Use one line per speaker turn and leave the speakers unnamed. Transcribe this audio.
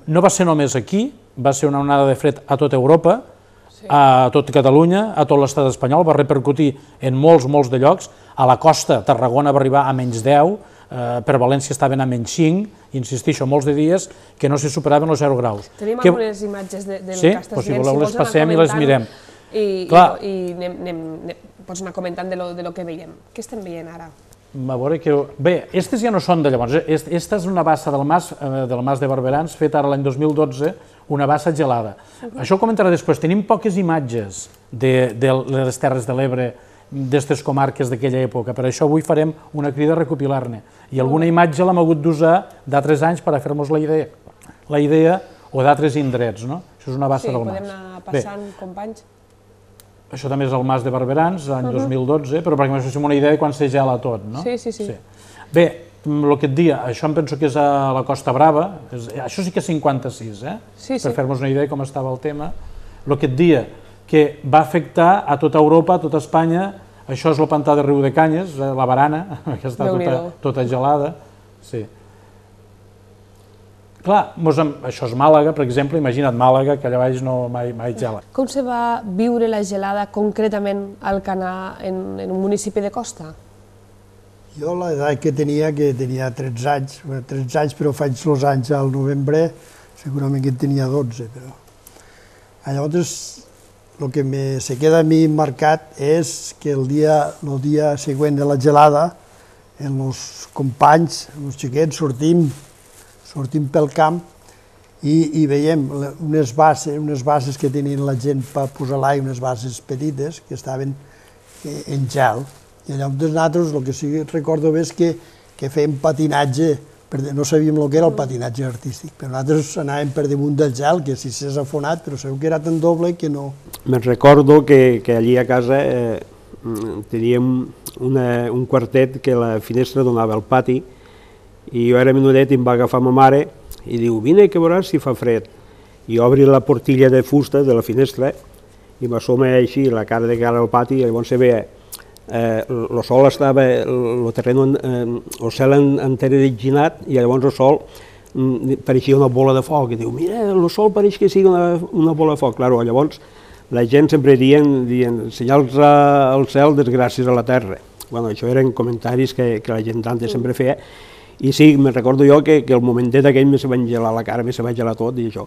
No va ser només aquí, va ser una onada de fred a tota Europa, a tot Catalunya, a tot l'estat espanyol, va repercutir en molts de llocs. A la costa, Tarragona va arribar a menys 10, per València estaven a menys 5, insistixo, molts de dies que no se superaven els 0 graus.
Tenim algunes imatges del que estàs dient,
si voleu les passem i les mirem.
I pots anar comentant de lo que veiem. Què estem veient ara?
A veure que... Bé, aquestes ja no són de llavors. Aquesta és una bassa del Mas de Barberans, feta ara l'any 2012, una bassa gelada. Això ho comentaré després. Tenim poques imatges de les Terres de l'Ebre, d'aquestes comarques d'aquella època. Per això avui farem una crida a recopilar-ne. I alguna imatge l'hem hagut d'usar d'altres anys per a fer-nos la idea o d'altres indrets, no? Això és una bassa del Mas.
Sí, podem anar passant, companys.
Això també és el Mas de Barberans, l'any 2012, però perquè ens fem una idea de quan se gela tot, no?
Sí.
Bé, el que et dia, això em penso que és a la Costa Brava, això sí que és 56, per fer-nos una idea de com estava el tema. El que et dia, que va afectar a tota Europa, a tota Espanya, això és el pantà de Riu de Canyes, la barana, que està tota gelada. Sí. Clar, això és Màlaga, per exemple, imagina't Màlaga, que allà baix no mai gela.
Com se va viure la gelada concretament al Canà en un municipi de costa?
Jo l'edat que tenia 13 anys, però faig els anys al novembre, segurament que en tenia 12, però... Llavors, el que se queda a mi marcat és que el dia següent de la gelada, els companys, els xiquets, sortim pel camp i veiem unes basses que tenien la gent per posar l'aigua, unes basses petites que estaven en gel. I llavors nosaltres, el que sí que recordo bé és que fèiem patinatge, no sabíem el que era el patinatge artístic, però nosaltres anàvem per damunt del gel, que si s'és afonat, però sabeu que era tan doble que no...
Me'n recordo que allí a casa teníem un quartet que la finestra donava al pati, i jo era menudet i em va agafar ma mare i diu, vine que veuràs si fa fred. I obri la portilla de fusta de la finestra i m'assoma així la cara de cara al pati i llavors se veia el sol estava, el terreny, el cel enterrinat i llavors el sol pareixia una bola de foc i diu, mira, el sol pareix que sigui una bola de foc. Claro, llavors la gent sempre dient senyals al cel, desgràcies a la terra. Bueno, això eren comentaris que la gent d'antes sempre feia. I sí, me'n recordo jo que el momentet aquell me se va engelar la cara, me se va gelar tot i això.